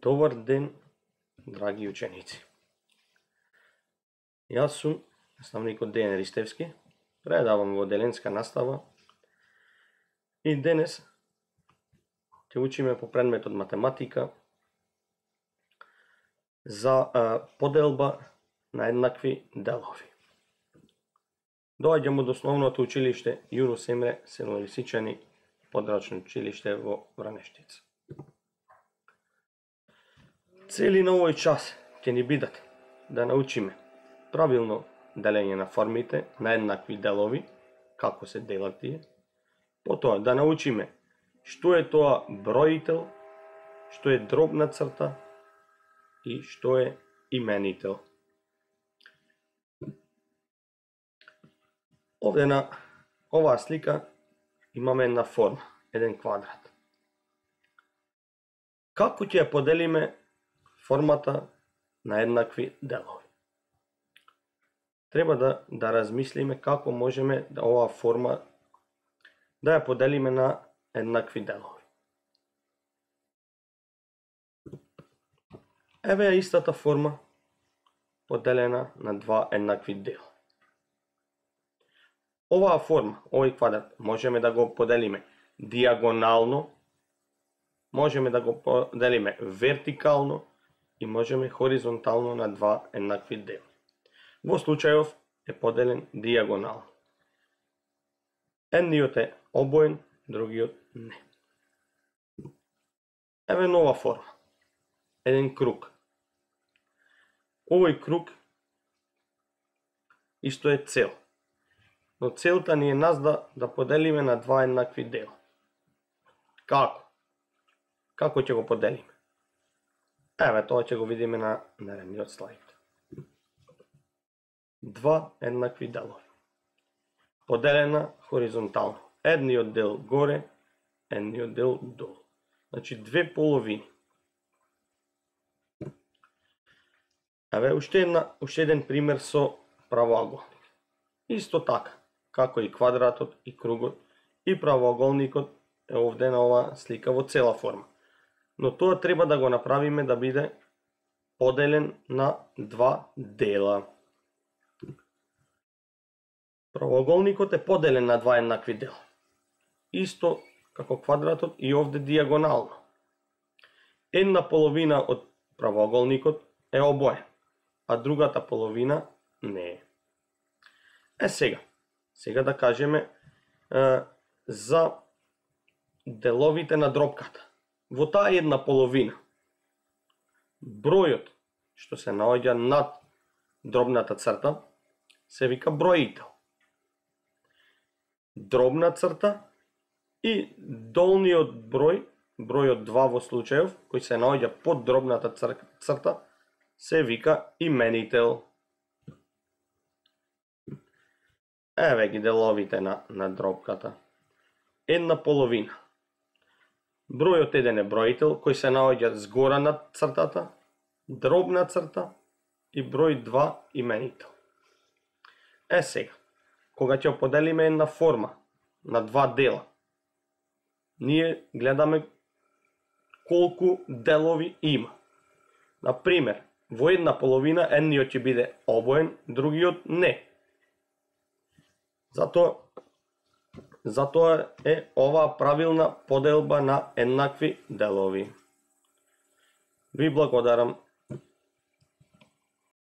Добар ден, драги ученици. Јас сум наставникот Дејан Ристевски, предавам во деленска настава и денес ќе учиме по предметот математика за поделба на еднакви делови. Доаѓам од основното училиште Јунус Емре Село-Лисичани, подрачно училиште во Вранештица. Цели на овој час ќе ни бидат да научиме правилно делење на формите на еднакви делови, како се делат тие, потоа да научиме што е тоа броител, што е дробна црта и што е именител. Овде на оваа слика имаме една форма, еден квадрат. Како ќе ја поделиме формата на еднакви делови? Треба да размислиме како можеме да оваа форма да ја поделиме на еднакви делови. Еве ја истата форма поделена на два еднакви дела. Оваа форма, овој квадрат, можеме да го поделиме диагонално, можеме да го поделиме вертикално и можеме хоризонтално на два еднакви дела. Во случајов е поделен диагонално. Едниот е обоен, другиот не. Еве нова форма. Еден круг. Овој круг исто е цел. Но целта ни е нас да поделиме на два еднакви дела. Како? Како ќе го поделиме? Еве, тоа ќе го видиме на наредниот слайд. Два еднакви делови. Поделена хоризонтално. Едниот дел горе, едниот дел долу. Значи две половини. Еве уште еден пример со правоаголник. Исто така, како и квадратот и кругот и правоаголникот е овде на оваа слика во цела форма. Но тоа треба да го направиме да биде поделен на два дела. Правоаголникот е поделен на два еднакви дела. Исто како квадратот и овде диагонално. Една половина од правоаголникот е обоен, а другата половина не е. Сега да кажеме за деловите на дробката. Во таа една половина, бројот што се наоѓа над дробната црта се вика броител. Дробна црта и долниот број, бројот 2 во случајов, кој се наоѓа под дробната црта, се вика именител. Еве ги деловите на дробката. Една половина. Бројот 1 е броител, кој се наоѓа згора над цртата, дробна црта и број 2 именител. Сега, кога ќе поделиме една форма на два дела, ние гледаме колку делови има. Например, во една половина едниот ќе биде обоен, другиот не. Затоа е оваа правилна поделба на еднакви делови. Ви благодарам.